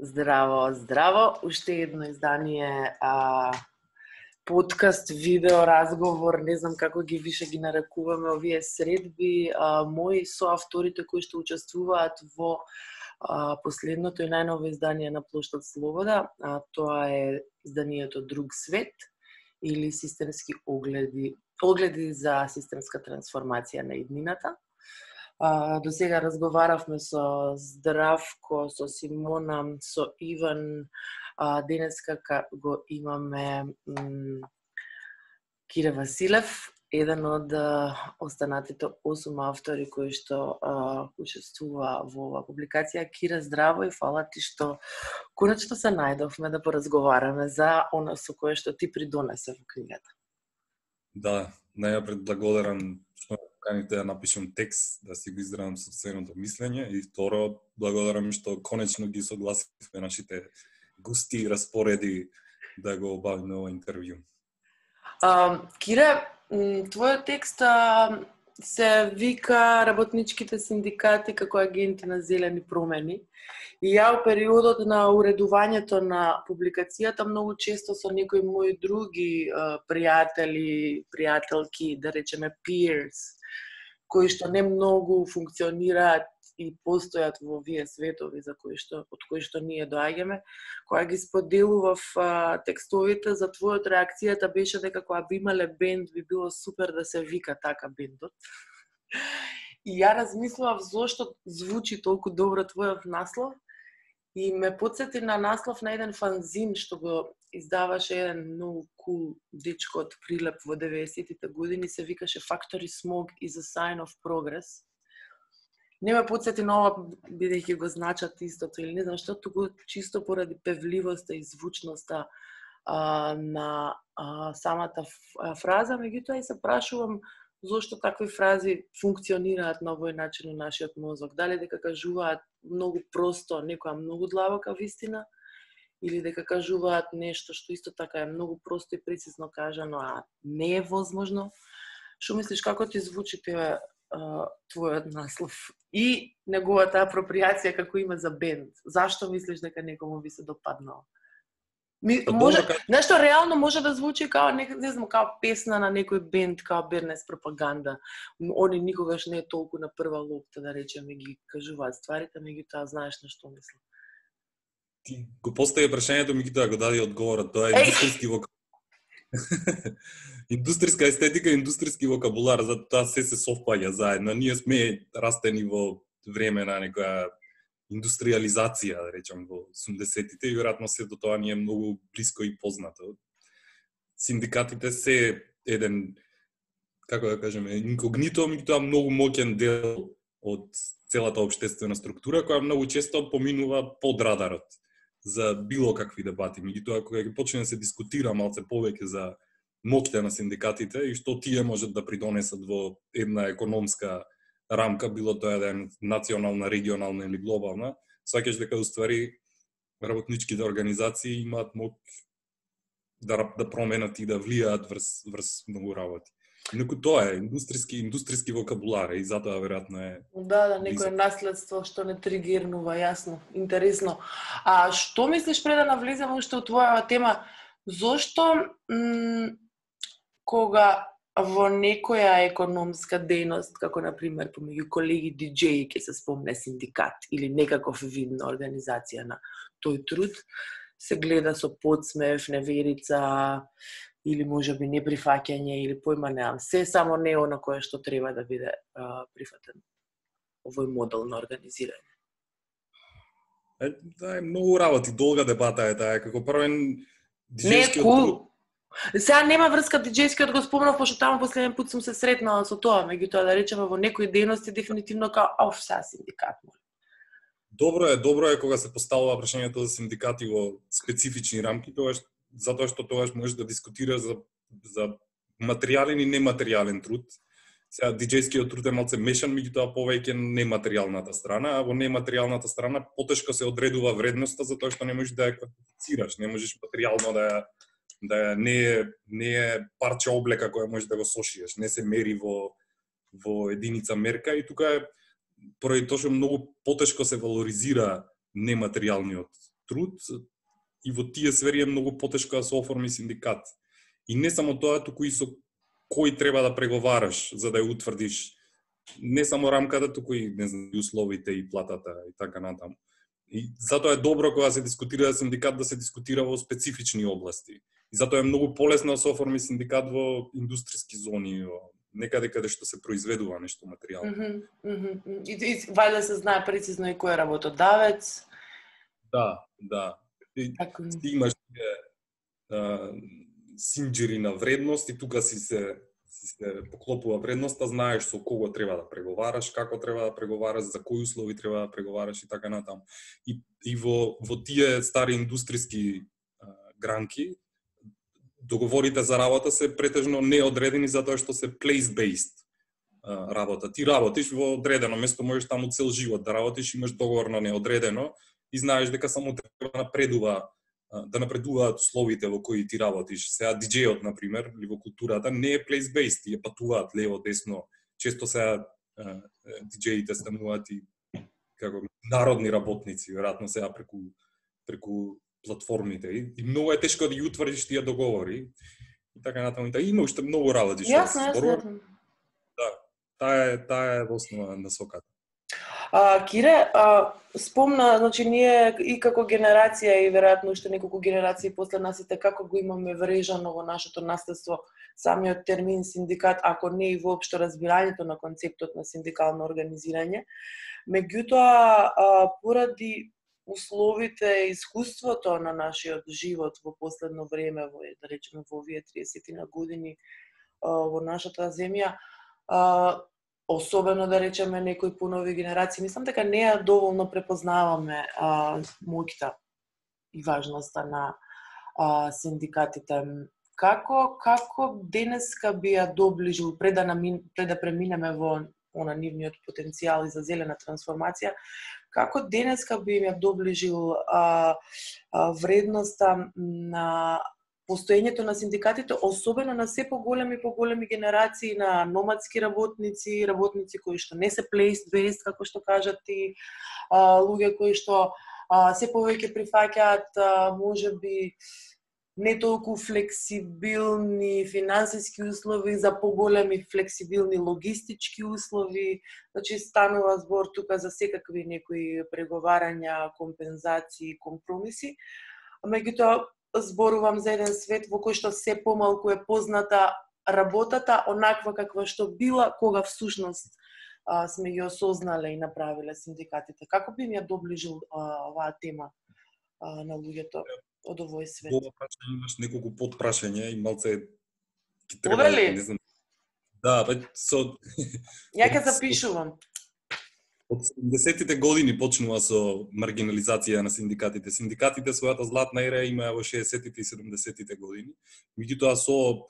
Здраво, здраво. Уште едно издание, подкаст, видео, разговор, не знам како ги више ги нарекуваме овие средби. Мои соавторите кои што учествуваат во последното и најново издание на Плоштад Слобода, тоа е изданието Друг свет или системски огледи за системска трансформација на иднината. До сега разговаравме со Здравко, со Симона, со Иван. Денеска го имаме Кире Василев, еден од останатите 8 автори кои што учествува во оваа публикација. Кире, здраво и фала ти што конечно се најдовме да поразговараме за она со кое што ти придонесе во книгата. Да, најапред благодарам што каните да напишам текст, да си го изразам сопственото мислење, и второ, благодарам што конечно ги согласивме нашите гости и распореди да го обавиме ова интервју. Кире, твојот текст се вика работничките синдикати како агенти на зелени промени. И ја во периодот на уредувањето на публикацијата многу често со некои мои други пријатели, пријателки, да речеме peers, кои што не многу функционираат и постојат во овие светови од кои што ние доаѓаме, кога ги споделував текстовите за твојот, реакцијата беше дека кога би имале бенд би било супер да се вика така бендот. И ја размислував зошто звучи толку добро твојот наслов и ме потсети на наслов на еден фанзин што го издаваше еден многу кул дечко од Прилеп во 90-тите години, се викаше Factory Smoke is a sign of progress. Не ме потсети на ова, бидејќи го значат истото или не знам што, туку чисто поради певливоста и звучноста на самата фраза, меѓутоа и се прашувам зошто такви фрази функционираат на овој начин во нашиот мозок. Дали дека кажуваат многу просто некоја многу длабока вистина, или дека кажуваат нешто што исто така е многу просто и прецизно кажано, а не е возможно. Што мислиш, како ти звучи твојот наслов и неговата апроприација како име за бенд? Зашто мислиш дека некому би се допаднало? Може, нешто реално може да звучи као не знам, као песна на некој бенд, као Бернес пропаганда. Они никогаш не е толку на прва лопта, да речеме, ги кажуваат стварите, меѓутоа знаеш на што мислам. Ти го постави прашањето, меѓутоа го даде одговорот. Тоа е индустријски вокабулар. Индустријска естетика и индустријски вокабулар, затоа се совпаѓа заедно. Ние сме растени во време на некоја индустриализација, да речам, во 80-тите и веројатно се до тоа ни е многу блиско и познато. Синдикатите се еден, како да кажеме, инкогнито, меѓутоа многу моќен дел од целата општествена структура, која многу често поминува под радарот за било какви дебати. Меѓутоа, кога ќе почне да се дискутира малце повеќе за моќта на синдикатите и што тие можат да придонесат во една економска рамка, било тоа да е национална, регионална или глобална, сваќаш дека уствари работничките организации имаат моќ да променат и да влијаат врз многу работи. Инаку тоа е индустријски вокабулар и затоа веројатно е. Да, некое наследство што не тригирнува, јасно, интересно. Што мислиш пред да навлеземе уште во твојава тема, зошто кога во некоја економска дејност, како на пример помеѓу колеги диџеи ќе се спомне синдикат или некаков вид на организација на тој труд, се гледа со подсмев, неверица или можеби неприфаќање или појма немам. Се само не она кое што треба да биде прифатен овој модел на организирање. Да, е многу работи, долга дебата е таа, како првен диџејскиот труд. Сега нема врска диџејскиот, го спомнав, пошто таму последен пат сум се сретнала со тоа, меѓутоа да речеме во некои дејности дефинитивно као сега синдикат. Добро е кога се поставува прашањето за синдикати во специфични рамки, затоа што тогаш можеш да дискутираш за материјален и нематеријален труд. Сега диџејскиот труд е малце мешан, меѓутоа повеќе нематеријалната страна, а во нематеријалната страна потешко се одредува вредноста затоа што не можеш да ја квантифицираш, не можеш материјално да не е парче облека која можеш да го сошиеш, не се мери во единица мерка и тука е поради тоа што многу потешко се валоризира нематеријалниот труд и во тие сфери е многу потешко да се оформи синдикат. И не само тоа, туку и со кој треба да преговараш за да ја утврдиш не само рамката, туку и не знам, условите и платата и така натаму. И затоа е добро кога се дискутира синдикат да се дискутира во специфични области. И затоа е многу полесно да се оформи синдикат во индустријски зони, некаде каде што се произведува нешто материјално. И вајде се знае прецизно и кој е работодавец. Да. И имаш синџери на вредност и тука си се поклопува вредноста, знаеш со кого треба да преговараш, како треба да преговараш, за кои услови треба да преговараш и така натаму. И во тие стари индустријски гранки договорите за работа се претежно неодредени затоа што се place-based работа. Ти работиш во одредено место, можеш таму цел живот да работиш, имаш договор на неодредено и знаеш дека само треба да напредуваат условите во кои ти работиш. Сега диџејот, например, или во културата, не е place-based, тие патуваат лево, десно. Често сега диџеите стануваат и како народни работници, веројатно сега преку платформите. И многу е тешко да ги утврдиш тие договори. И така натаму. Има уште многу работи што се зборува. Да, таа е во основа на соката. Кире, спомна, значи ние и како генерација и веројатно уште неколку генерации после нас и како го имаме врежано во нашето наследство самиот термин синдикат, ако не и воопшто разбирањето на концептот на синдикално организирање. Меѓутоа, поради условите и искуството на нашиот живот во последно време, да речеме во овие 30 на години во нашата земја, особено да речеме некои понови генерации, мислам дека не ја доволно препознаваме моќта и важноста на синдикатите. Како денеска би ја доближил пред да преминеме во нивниот потенцијал и за зелена трансформација, како денеска би ја доближил вредноста на постоењето на синдикатите, особено на се поголеми генерации на номадски работници, работници кои што не се place-based, како што кажат ти, луѓе кои што се повеќе прифаќаат можеби не толку флексибилни финансиски услови за поголеми флексибилни логистички услови. Значи станува збор тука за секакви некои преговарања, компензации, компромиси. Меѓутоа зборувам за еден свет во кој што се помалку е позната работата онаква каква што била кога всушност сме ги осознале и направиле синдикатите. Како би ми ја доближил оваа тема на луѓето од овој свет? Ова прашање имаш неколку подпрашања и малце ќе треба, не знам. Да, ја ќе запишувам. Од 70-тите години почнува со маргинализација на синдикатите. Синдикатите својата златна ера имаа во 60-тите и 70-тите години. Меѓутоа со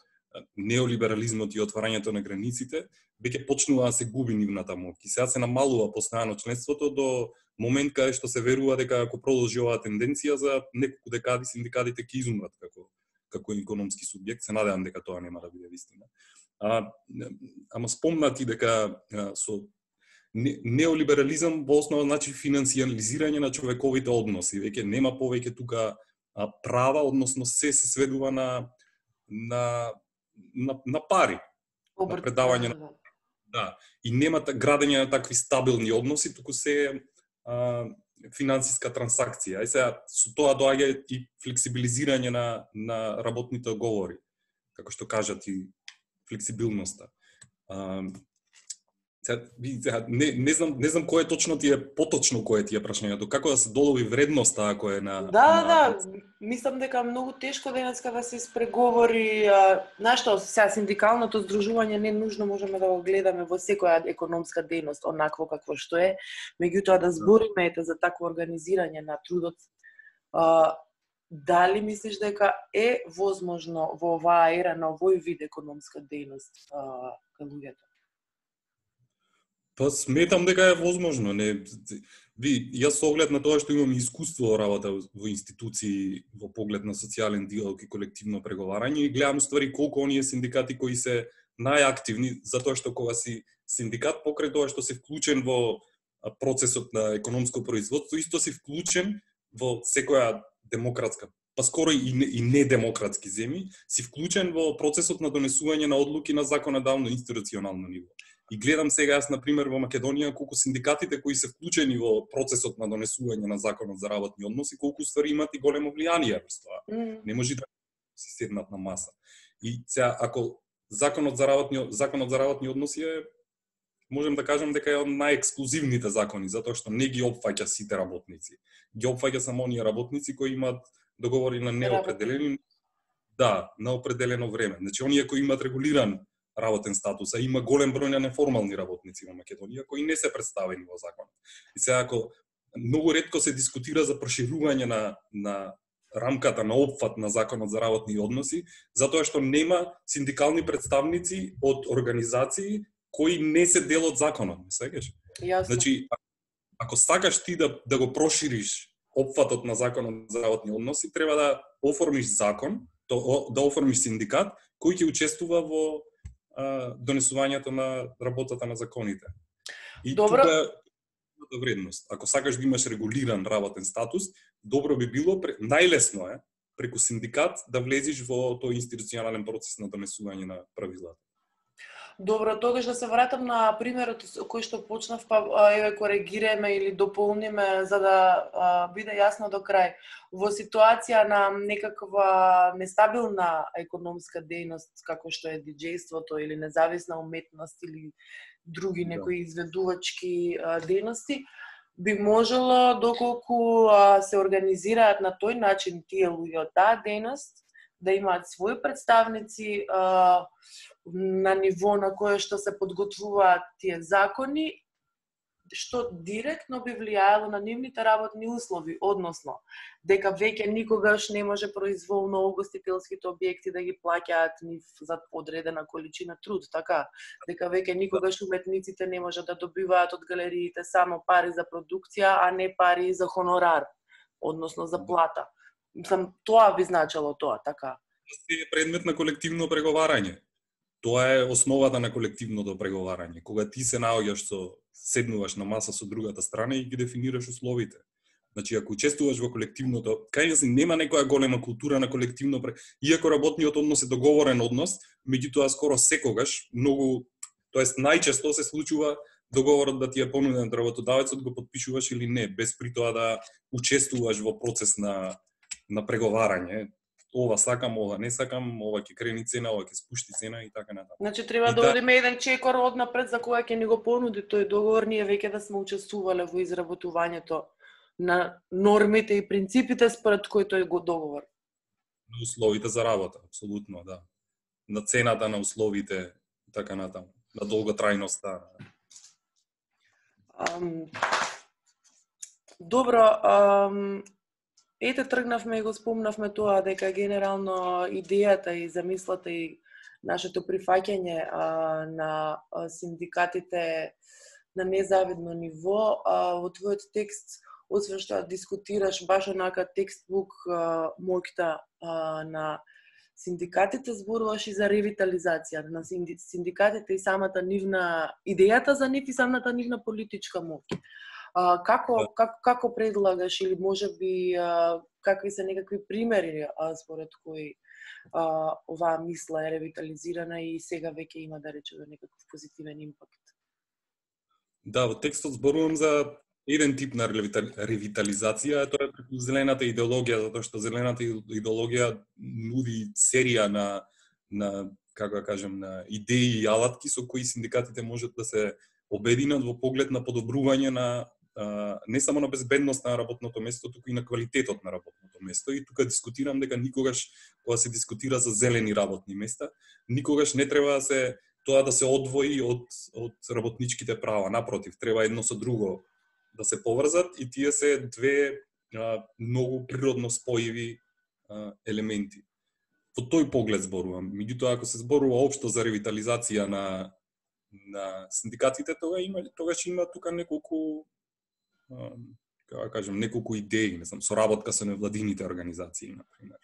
неолиберализмот и отварањето на границите, веќе почнува да се губи нивната моќ. И сега се намалува постојано членството до момент каде што се верува дека ако продолжи оваа тенденција за неколку декади синдикатите ќе изумрат како економски субјект. Се надевам дека тоа нема да биде вистина. Ама спомна ти дека со неолиберализам во основа значи финансијализирање на човековите односи. Веќе нема повеќе тука права, односно се сведува на пари. На предавање на... Да. И нема градење на такви стабилни односи, туку се финансиска трансакција. И сега со тоа доаѓа и флексибилизирање на работните договори. Како што кажат и флексибилноста. Не знам кој е точно ти е поточно кој е ти е прашањето, како да се долови вредноста ако е на... Да, мислам дека многу тешко денеска да се испреговори, нашто сега синдикалното здружување не нужно можеме да го гледаме во секоја економска дејност онакво какво што е, меѓутоа да збориме за такво организирање на трудот. Дали мислиш дека е возможно во оваа ера на овој вид економска дејност кај луѓето? Па сметам дека е возможно, јас со оглед на тоа што имам искуство работа во институции во поглед на социјален диалог и колективно преговарање и гледам ствари колку оние синдикати кои се најактивни, затоа што кога си синдикат покрај тоа што си вклучен во процесот на економско производство, исто си вклучен во секоја демократска, па скоро и недемократски земји, си вклучен во процесот на донесување на одлуки на законодавно институционално ниво. И гледам сега јас, например, во Македонија, колку синдикатите кои се вклучени во процесот на донесување на законот за работни односи, колку ствари имат и големо влијание врз тоа. Не може да си седнат на маса. И сега, ако законот за работни односи е, можем да кажем дека е од најексклузивните закони, затоа што не ги опфаќа сите работници. Ги опфаќа само оние работници кои имаат договори на неопределени, на определено време. Значи, оние кои имаат регулиран работен статус, а има голем број на неформални работници во Македонија кои не се представени во законот. И сега, ако многу ретко се дискутира за проширување на рамката на опфат на законот за работни односи, затоа што нема синдикални представници од организации кои не се дел од законот, не сеќаш? Значи, ако сакаш ти да го прошириш опфатот на законот за работни односи, треба да оформиш закон, да оформиш синдикат кој ќе учествува во донесувањето на работата на законите. И тука вредност. Ако сакаш да имаш регулиран работен статус, добро би било, најлесно е преку синдикат да влезиш во тој институционален процес на донесување на правилата. Добро, тогаш да се вратам на примерот кој што почнав, па еве коригираме или дополниме за да биде јасно до крај. Во ситуација на некаква нестабилна економска дејност, како што е диџејството или независна уметност или други некои изведувачки дејности, би можело, доколку се организираат на тој начин тие луѓе од таа дејност, да имаат своји представници на ниво на кое што се подготвуваат тие закони, што директно би влијаело на нивните работни услови, односно дека веќе никогаш не може произволно угостителските објекти да ги плаќаат нив за одредена количина труд, така, дека веќе никогаш уметниците не може да добиваат од галериите само пари за продукција, а не пари за хонорар, односно за плата. Тоа би значело тоа, така. Е предмет на колективно преговарање. Тоа е основата на колективното преговарање. Кога ти се наоѓаш седнуваш на маса со другата страна и ги дефинираш условите. Значи, ако учествуваш во колективното, кај нас нема некоја голема култура на колективно иако работниот однос е договорен однос, меѓутоа скоро секогаш, тоест најчесто се случува договорот да ти е понуден од работодавецот, го потпишуваш или не, без при тоа да учествуваш во процес на преговарање. Ова сакам, ова не сакам, ова ќе крени цена, ова ќе спушти цена и така натаму. Значи треба да одиме еден чекор однапред за кога ќе ни го понуди тој договор, ние веќе да сме учествувале во изработувањето на нормите и принципите според кои тој го договор. На условите за работа, апсолутно, да. На цената на условите, така натаму, на долготрајноста. Добро, ете, тргнавме и го спомнавме тоа, дека генерално идејата и замислата и нашето прифаќање на синдикатите на незавидно ниво, во твојот текст, освен што дискутираш баш онака текстбук моќта на синдикатите, зборуваш и за ревитализација на синдикатите и самата нивна идејата за нив и самата нивна политичка моќ. Како предлагаш или можеби какви се некакви примери според кои оваа мисла е ревитализирана и сега веќе има, да речеме, некаков позитивен импакт? Да, во текстот зборувам за еден тип на ревитализација, тоа е преку зелената идеологија, затоа што зелената идеологија нуди серија на како да кажем, на идеи и алатки со кои синдикатите можат да се обединат во поглед на подобрување на не само на безбедност на работното место, туку и на квалитетот на работното место. И тука дискутирам дека никогаш, кога се дискутира за зелени работни места, никогаш не треба тоа да се одвои од работничките права. Напротив, треба едно со друго да се поврзат и тие се две многу природно спојиви елементи. Во тој поглед зборувам. Меѓутоа, ако се зборува општо за ревитализација на синдикатите, тогаш има тука неколку неколку идеи, не знам, соработка со невладините организации, например.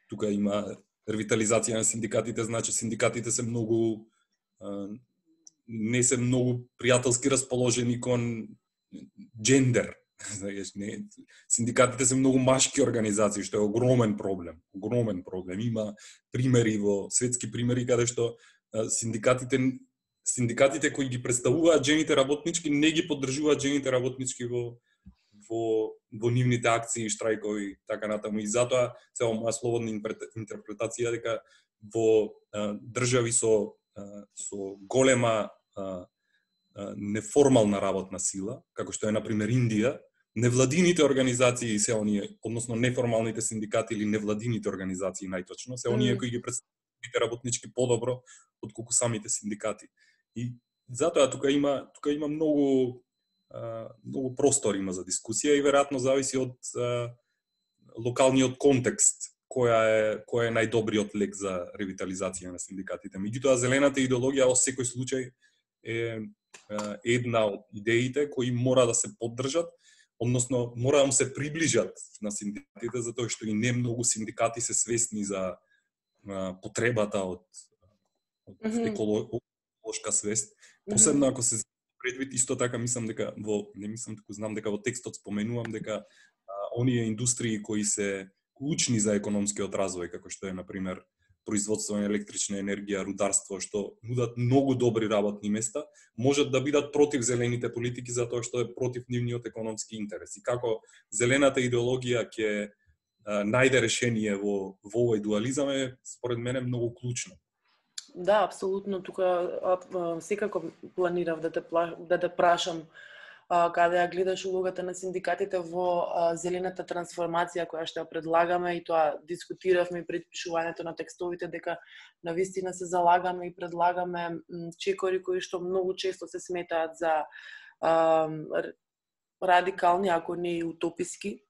Тука има ревитализација на синдикатите, значи синдикатите се многу не се многу пријателски расположени кон джендер, Знаеш, не, синдикатите се многу машки организации, што е огромен проблем. Огромен проблем. Има примери светски примери каде што синдикатите кои ги представуваат жените работнички не ги поддржуваат жените работнички во нивните акции, штрајкови, така натаму. И затоа, сега моја слободна интерпретација дека во држави со голема неформална работна сила, како што е на пример Индија, невладините организации се оние, односно неформалните синдикати или невладините организации најточно, се оние кои ги представуваат работнички подобро отколку самите синдикати. И затоа тука има многу простор има за дискусија и веројатно зависи од локалниот контекст кој е најдобриот лек за ревитализација на синдикатите. Меѓутоа, зелената идеологија во секој случај е една од идеите кои мора да се поддржат, односно мора да се приближат на синдикатите, затоа што и не многу синдикати се свесни за потребата од еколошка свест. Посебно ако се предвид, исто така знам дека во текстот споменувам дека оние индустрии кои се клучни за економскиот развој, како што е, например, производство на електрична енергија, рударство, што нудат многу добри работни места, можат да бидат против зелените политики затоа што е против нивниот економски интерес. И како зелената идеологија ќе најде решение во овој дуализам е, според мене, многу клучно. Да, апсолутно. Тука секако планирав да те прашам каде ја гледаш улогата на синдикатите во зелената трансформација која што ја предлагаме, и тоа дискутиравме пред пишувањето на текстовите, дека навистина се залагаме и предлагаме чекори кои што многу често се сметаат за радикални, ако не и утописки.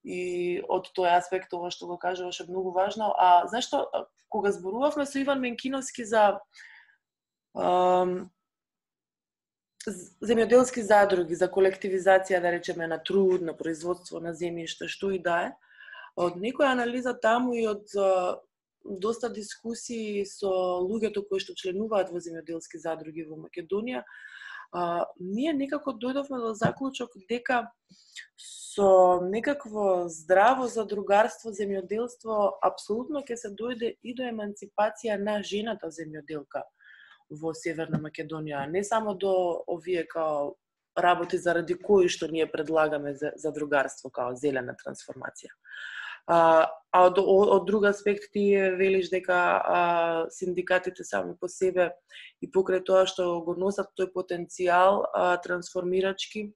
И од тој аспект ова што го кажуваш е многу важно. А зашто кога зборувавме со Иван Менкиновски за земјоделски задруги, за колективизација, да речеме, на труд, на производство на земјиште, што и да е, од некоја анализа таму и од доста дискусии со луѓето кои што членуваат во земјоделски задруги во Македонија, ние некако дојдовме до заклучок дека со некакво здраво задругарство, земјоделство, апсолутно ќе се дојде и до еманципација на жената земјоделка во Северна Македонија, не само до овие као работи заради кои што ние предлагаме за другарство као зелена трансформација. Од друг аспект ти велиш дека синдикатите сами по себе и покрај тоа што го носат тој потенцијал трансформирачки,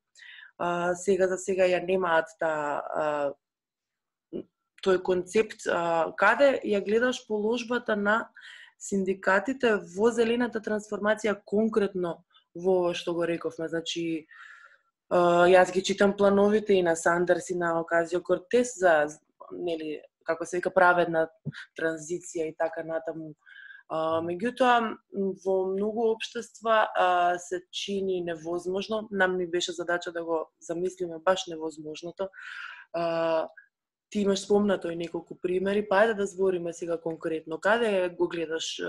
сега за сега ја немаат тој концепт. Каде ја гледаш положбата на синдикатите во зелената трансформација конкретно во ова што го рековме? Значи, јас ги читам плановите и на Сандерс и на Оказио-Кортес за, нели, како се вика, праведна транзиција и така натаму. Меѓутоа, во многу општества се чини невозможно. Нам ни беше задача да го замислиме баш невозможното. Ти имаш спомнато и неколку примери, па ајде да збориме сега конкретно. Каде го гледаш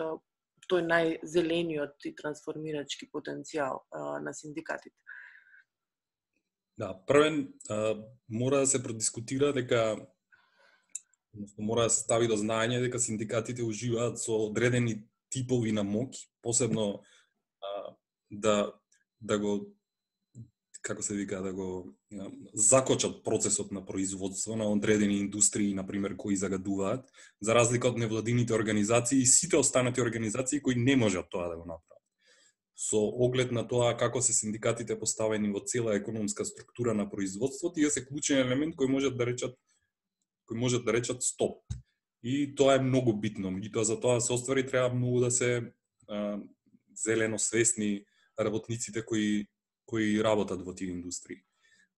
тој најзелениот и трансформирачки потенцијал на синдикатите? Да, првен мора да се продискутира дека, мора да се стави до знаење дека синдикатите уживаат со одредени типови на моќ, посебно да го, како се вика, да го закочат процесот на производство на одредени индустрии, например, кои загадуваат, за разлика од невладините организации и сите останати организации кои не можат тоа да го направат. Со оглед на тоа како се синдикатите поставени во цела економска структура на производство, тие се клучен елемент кој можат да речат стоп. И тоа е многу битно. И тоа за тоа се оствари треба многу да се зелено свесни работниците кои работат во тие индустрии.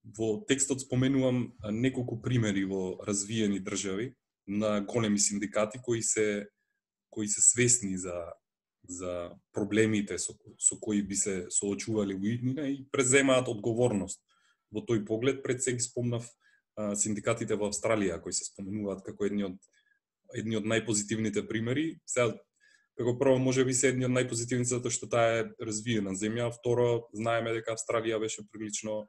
Во текстот споменувам неколку примери во развиени држави на големи синдикати кои се свесни за проблемите со кои би се соочували во иднина и преземаат одговорност. Во тој поглед пред се ги спомнав синдикатите во Австралија кои се споменуваат како едни од најпозитивните примери. Сега, како прво, може би се едни од најпозитивните затоа што таа е развиена земја, второ, знаеме дека Австралија беше прилично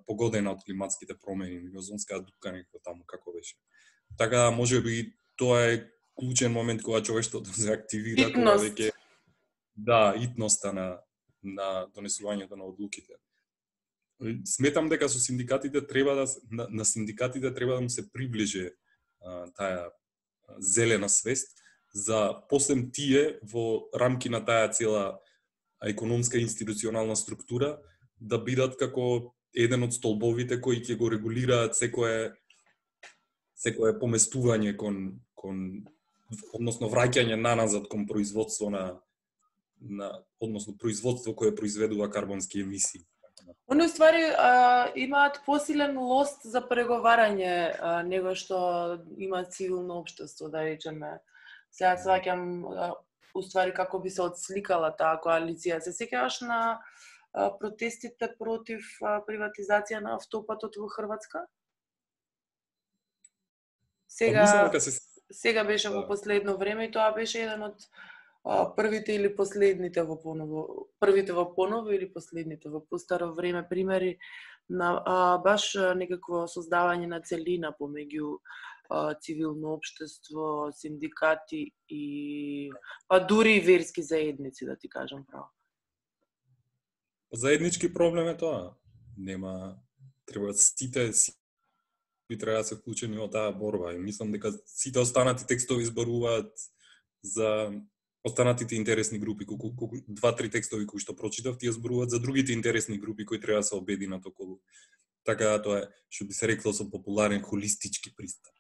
погодена од климатските промени, озонската дупка некако таму како беше. Така можеби тоа е клучен момент кога човештвото се активира, кога веќе итноста на донесувањето на одлуките. Сметам дека со синдикатите треба на синдикатите треба да му се приближи таа зелена свест за посем тие во рамки на таа цела економска и институционална структура да бидат како еден од столбовите кои ќе го регулираат секое поместување кон односно враќање назад кон производство односно производство кое произведува карбонски емисии. Они ствари имаат посилен лост за преговарање него што има цивилно општество, да речеме. Сега сваќам уствари како би се отсликала таа коалиција. Се сеќаваш на протестите против приватизација на автопатот во Хрватска? Сега беше во последно време и тоа беше еден од првите или последните во поново или последните во постаро време примери на баш некакво создавање на целина помеѓу цивилно општество, синдикати и дури и верски заедници, да ти кажам право. Заеднички проблем е тоа. Нема, треба сите би треба да се вклучени во таа борба. И мислам дека сите останати текстови зборуваат за останатите интересни групи, колку 2-3 текстови кои што прочитав, тие зборуваат за другите интересни групи кои треба да се обединат околу. Така тоа е, што би се рекло со популарен холистички пристап.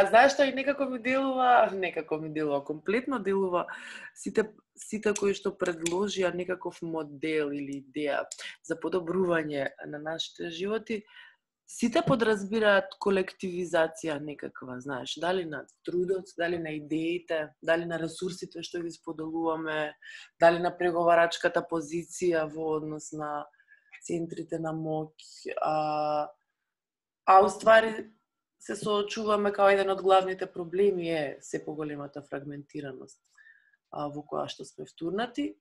Знаеш што и некако ми делува, комплетно делува сите кои што предложија некаков модел или идеја за подобрување на нашите животи, сите подразбираат колективизација некаква, знаеш, дали на трудот, дали на идеите, дали на ресурсите што ги споделуваме, дали на преговарачката позиција во однос на центрите на моќ, уствари се соочуваме као еден од главните проблеми е се поголемата фрагментираност во која што сме втурнати.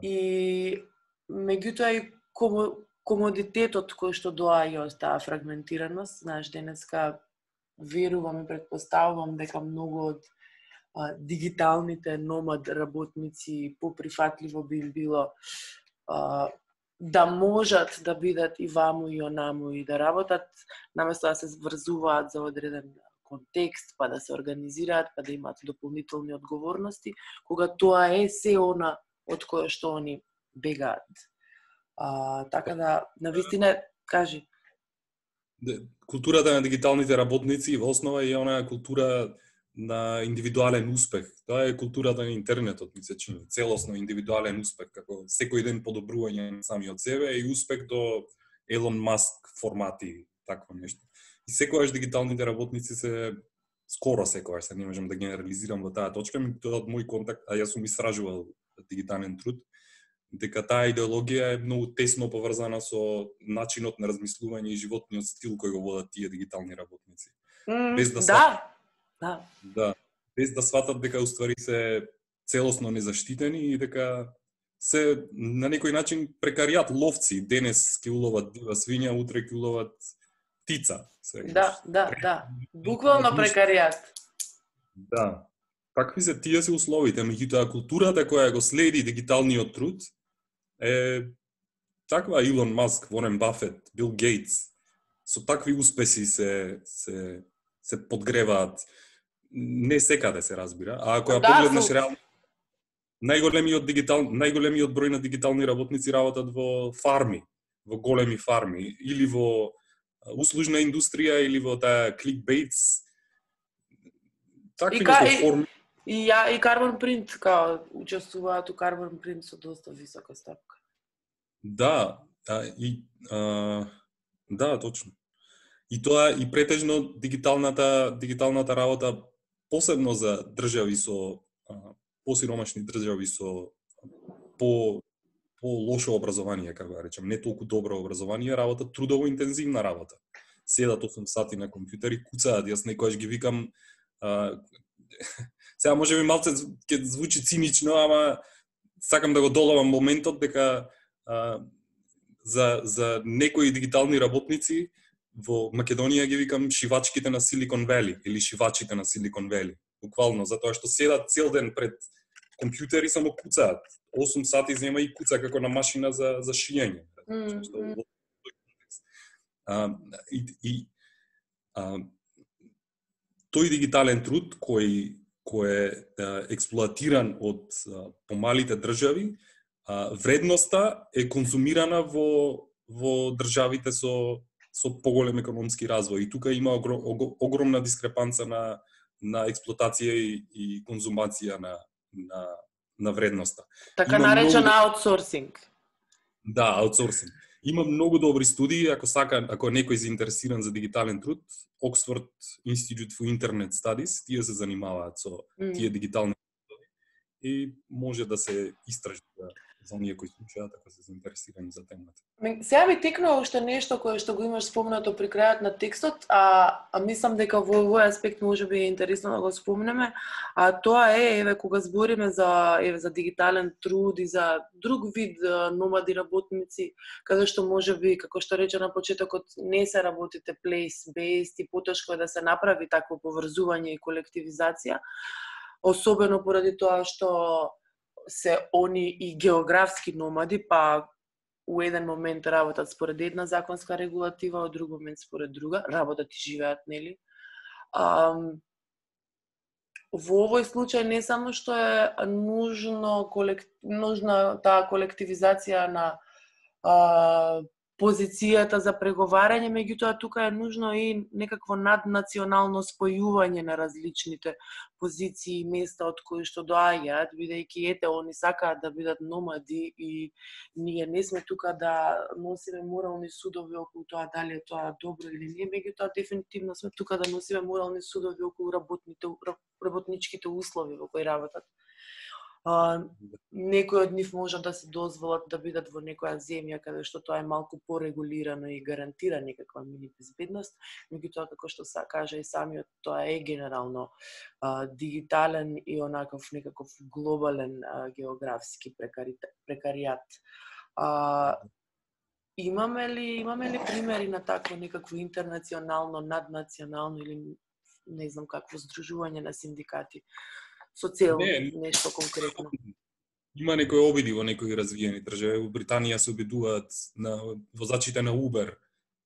И меѓутоа и комодитетот кој што доаѓа од таа фрагментираност, знаеш, денеска верувам и претпоставувам дека многу од дигиталните номад работници поприфатливо би им било да можат да бидат и ваму и онаму и да работат, наместо да се врзуваат за одреден контекст, па да се организираат, па да имаат дополнителни одговорности, кога тоа е се она од кое што они бегаат. Така да, навистина, кажи. Културата на дигиталните работници во основа е онаа култура на индивидуален успех. Тоа е културата на интернетот, ми се чини. Целосно индивидуален успех, како секој ден подобрување на самиот себе и успех до Елон Маск формати, такво нешто. И секогаш дигиталните работници се, скоро секогаш, се не можам да генерализирам во таа точка, ми тоа од мој контакт, јас сум истражувал дигитален труд, дека таа идеологија е многу тесно поврзана со начинот на размислување и животниот стил кој го водат тие дигитални работници. Без да без да сватат дека уствари се целосно незаштитени и дека се на некој начин прекаријат ловци. Денес ќе уловат дива свиња, утре ќе уловат птица. Да. Буквално прекаријат. Да. Какви се тие се условите, меѓутоа културата која го следи дигиталниот труд е таква. Илон Маск, Ворен Бафет, Бил Гейтс, со такви успеси се подгреваат. Не секаде се разбира, а ако ја погледнеш реално, најголемиот број на дигитални работници работат во фарми, во големи фарми, или во услужна индустрија, или во таа кликбейтс. Такви форми. И Carbon Print, као учествуваат у Carbon Print со доста висока стапка. Да, точно. И тоа и претежно дигиталната работа, посебно за држави со посиромашни држави со по лошо образование, како да речем, не толку добро образование, работа трудово интензивна работа. Седат 8 сати на компјутер и куцаат. Јас некојаш ги викам, сега може би малце ќе звучи цинично, ама сакам да го доловам моментот дека за некои дигитални работници во Македонија ги викам шивачките на Силикон Вели или шивачите на Силикон Вели. Буквално, затоа што седат цел ден пред компјутери само куцаат. 8 сати зема и куца како на машина за шиење. Тој дигитален труд кој е експлоатиран од помалите држави, вредноста е конзумирана во државите со поголем економски развој. И тука има огромна дискрепанца на експлоатација и конзумација на вредноста. Така наречен аутсорсинг. Да, аутсорсинг. Има многу добри студии, ако некој заинтересиран за дигитален труд, Oxford Institute for Internet Studies, тие се занимаваат со тие дигитални студии и може да се истражи за оние кои слушаат, ако се заинтересирани за темата. Сега ми текнува уште нешто кое што го имаш спомнато при крајот на текстот, а мислам дека во овој аспект може би е интересно да го спомнеме, а тоа е кога збориме за дигитален труд и за друг вид номади работници, каде што може би, како што рече на почетокот, не се работите place-based и потешко е да се направи такво поврзување и колективизација, особено поради тоа што се они и географски номади, па у еден момент работат според една законска регулатива, од друг момент според друга, работат и живеат, нели? Во овој случај не само што е нужна таа колективизација на позицијата за преговарање, меѓутоа тука е нужно и некакво наднационално спојување на различните позиции и места од кои што доаѓаат, бидејќи они сакаат да бидат номади и ние не сме тука да носиме морални судови околу тоа дали е тоа добро или не, меѓутоа дефинитивно сме тука да носиме морални судови околу работничките услови во кои работат. Некои од нив може да се дозволат да бидат во некоја земја каде што тоа е малку порегулирано и гарантира некаква мини безбедност, меѓутоа како што се кажа и самиот, тоа е генерално дигитален и онаков некаков глобален географски прекаријат. Имаме ли примери на такво некакво интернационално, наднационално или не знам какво здружување на синдикати со цел нешто конкретно? Има некои обиди во некои развиени држави. Во Британија се обидуваат на возачите на Uber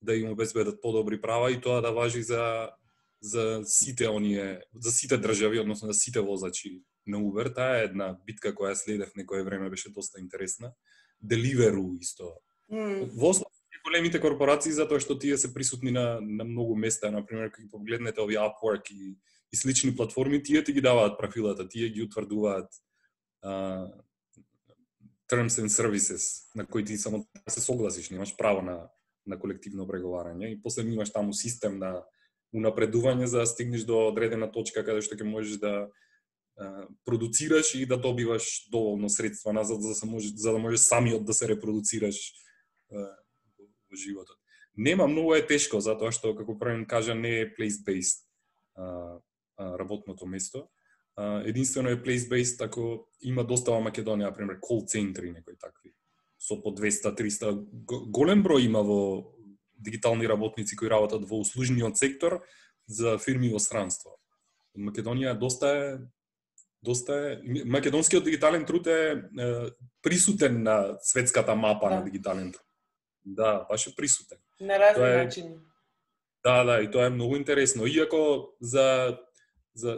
да им обезбедат подобри права и тоа да важи за сите држави, односно за сите возачи на Uber. Таа е една битка која следев некое време, беше доста интересна. Deliveroo исто. Во големите корпорации, затоа што тие се присутни на многу места, например, кога погледнете овие Upwork и слични платформи, тие ти ги даваат правилата, тие ги утврдуваат terms and services на кои ти само се согласиш, немаш право на колективно преговарање и после имаш таму систем на унапредување за да стигнеш до одредена точка каде што ќе можеш да продуцираш и да добиваш доволно средства назад за да можеш самиот да се репродуцираш во животот. Нема, многу е тешко затоа што како правим кажа не е place-based работното место. Единствено е place-based ако има доста во Македонија, например, call центри, некои такви, со по 200-300. Голем број има во дигитални работници кои работат во услужниот сектор за фирми во странство. Македонија доста е македонскиот дигитален труд е присутен на светската мапа на дигитален труд. Да, баш е присутен. На разни начини. Да, и тоа е многу интересно. Иако за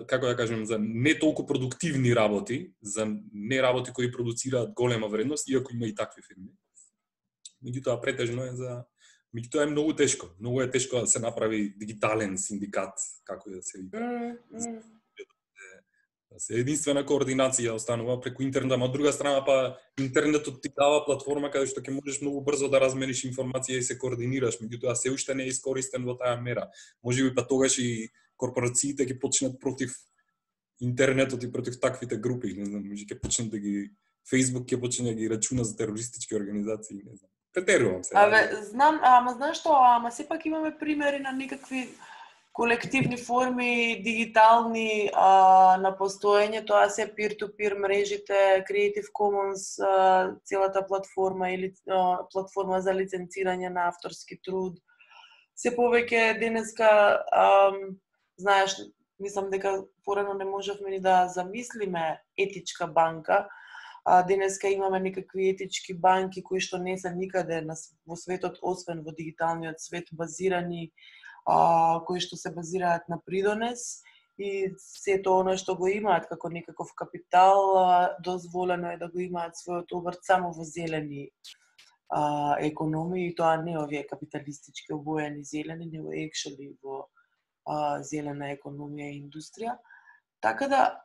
како да кажем, за не толку продуктивни работи, за не работи кои продуцираат голема вредност, иако има и такви фирми. Меѓутоа претежно е меѓутоа е многу тешко. Многу е тешко да се направи дигитален синдикат, како да се вика. Се единствена координација останува преку интернет, а од друга страна па интернетот ти дава платформа каде што ќе можеш многу брзо да размениш информација и се координираш, меѓутоа се уште не е искористен во таа мера. Можеби па тогаш и корпорациите ќе почнат против интернетот и против таквите групи, не знам, може ќе почнат да ги Facebook ќе почне да ги рачуна за терористички организации, не знам. Претерувам се. Знам, ама знаеш што, сепак имаме примери на некакви колективни форми, дигитални на постоење, тоа се peer-to-peer мрежите, Creative Commons, целата платформа или платформа за лиценцирање на авторски труд. Се повеќе денеска, знаеш, мислам дека порано не можевме ни да замислиме етичка банка, денеска имаме некакви етички банки кои што не се никаде во светот, освен во дигиталниот свет, базирани, кои што се базираат на придонес и сето оно што го имаат како некаков капитал, дозволено е да го имаат својот обрт само во зелени економии, и тоа не овие капиталистички обоени зелени, него actually во зелена економија и индустрија. Така да,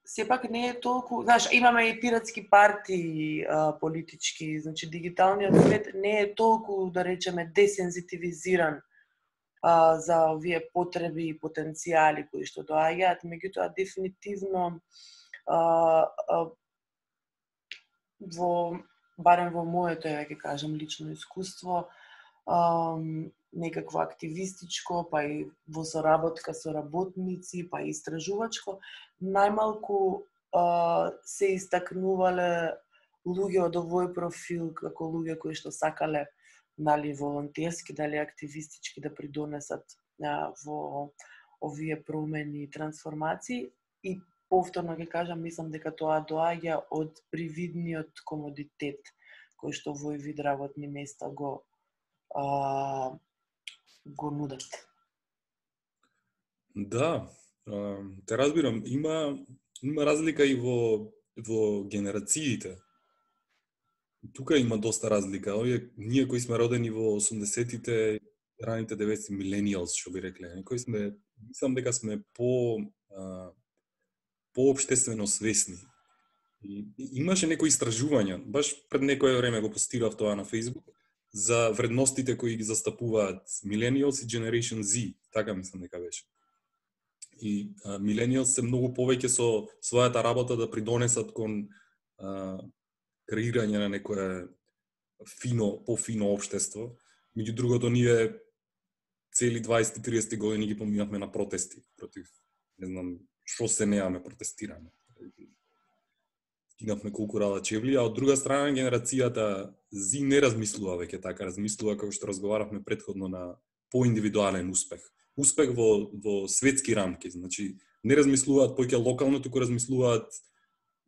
сепак не е толку, знаеш, имаме и пиратски партии политички, значи дигиталниот свет не е толку, да речеме, десензитивизиран за овие потреби и потенцијали кои што доаѓаат, меѓутоа дефинитивно барем во моето, ќе кажам, лично искуство, некакво активистичко, па и во соработка со работници, па и истражувачко, најмалку се истакнувале луѓе од овој профил како луѓе кои што сакале, дали волонтерски, дали активистички да придонесат во овие промени и трансформации. И повторно ќе кажам, мислам дека тоа доаѓа од привидниот комодитет кој што во овој вид работни места го нудат. Да, те разбирам. Има разлика и во генерациите. Тука има доста разлика. Ние кои сме родени во 80-тите, раните 90-ти, millennials, што би рекле, кои сме, мислам дека сме по-општествено свесни. И имаше некои истражувања, баш пред некое време го постирав тоа на Facebook, за вредностите кои ги застапуваат Millennials и Generation Z, така мислам дека беше. И Millennials се многу повеќе со својата работа да придонесат кон креирање на некое пофино општество. Меѓу другото, ние цели 20-30 години ги поминавме на протести против, не знам, што се неаме протестираме. Кинавме колку рада чевли, а од друга страна генерацијата Z не размислува веќе така, размислува како што разговаравме претходно на поиндивидуален успех. Успех во светски рамки, значи не размислуваат поќе локално, туку размислуваат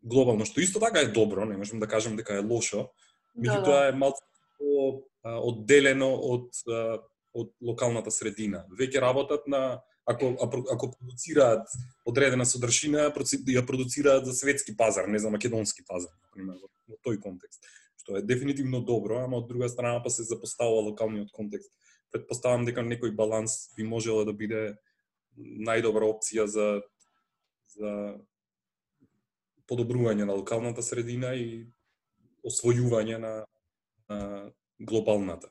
глобално, што исто така е добро, не можам да кажам дека е лошо, меѓутоа е малку одделено од локалната средина. Веќе работат на ако продуцираат одредена содржина, ја продуцираат за светски пазар, не за македонски пазар, например, во тој контекст, што е дефинитивно добро, ама од друга страна па се запоставува локалниот контекст. Предпоставам дека некој баланс би можело да биде најдобра опција за подобрување на локалната средина и освојување на глобалната.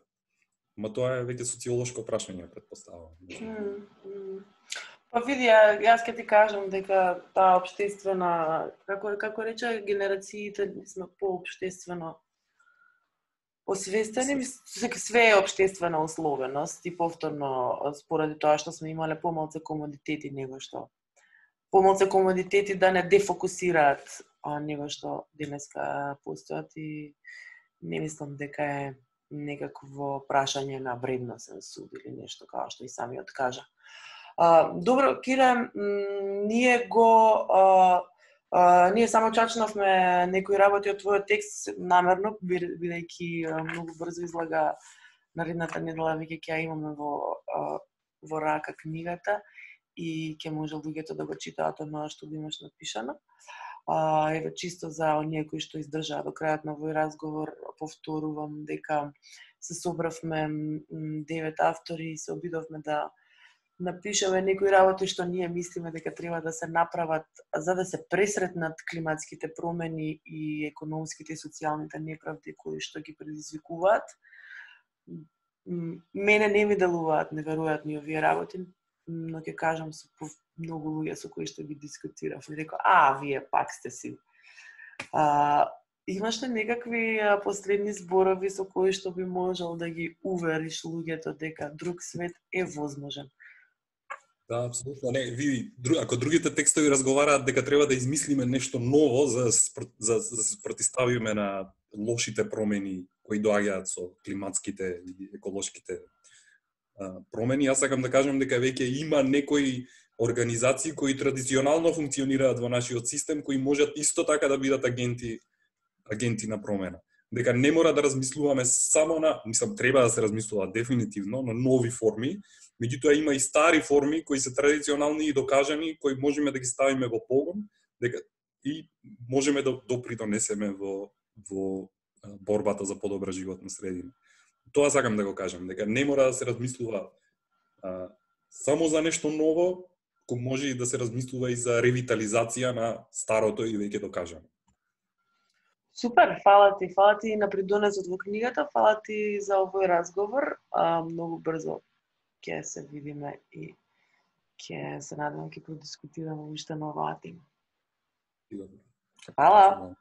Ма тоа е веќе социолошко прашање, предпоставам. Па види, јас ќе ти кажам дека таа општествена, како рече, генерациите сме поопштествено освестени, све е општествена условеност и повторно споради тоа што сме имале помалку комодитети него што помалку комодитети да не дефокусираат него што денеска постојат, и не мислам дека е некакво прашање на вредносен суд или нешто како што и самиот кажа. Добро, Кире, ние само чачнавме некои работи од твојот текст намерно, бидејќи многу брзо излага наредната недела, веќе ќе ја имаме во рака книгата и ќе може луѓето да го читаат оноа што го имаш напишано. Еве, чисто за оние кои што издржаа до крајот на овој разговор, повторувам дека се собравме 9 автори и се обидовме да напишеме некои работи што ние мислиме дека треба да се направат за да се пресретнат климатските промени и економските и социјалните неправди кои што ги предизвикуваат. Мене не ми делуваат неверојатни овие работи, но ќе кажам со многу луѓе со кои што ги дискутирав и реков, вие пак сте си. Имаш ли некакви последни зборови со кои што би можел да ги увериш луѓето дека друг свет е возможен? Да, апсолутно. Не, ако другите текстови разговараат дека треба да измислиме нешто ново за да се спротиставиме на лошите промени кои доаѓаат со климатските и еколошките промени, јас сакам да кажам дека веќе има некои организации кои традиционално функционираат во нашиот систем, кои можат исто така да бидат агенти на промена. Дека не мора да размислуваме само на, треба да се размислува дефинитивно на нови форми, меѓутоа има и стари форми кои се традиционални и докажани, кои можеме да ги ставиме во погон, дека и можеме да допринесеме во борбата за подобра животна средина. Тоа сакам да го кажам, дека не мора да се размислува само за нешто ново, кој може и да се размислува и за ревитализација на старото и веќе докажано. Супер, фала ти на придонесот во книгата, фала ти за овој разговор. Многу брзо ќе се видиме и ќе се надевам ќе продискутираме уште на оваа тема. Фала.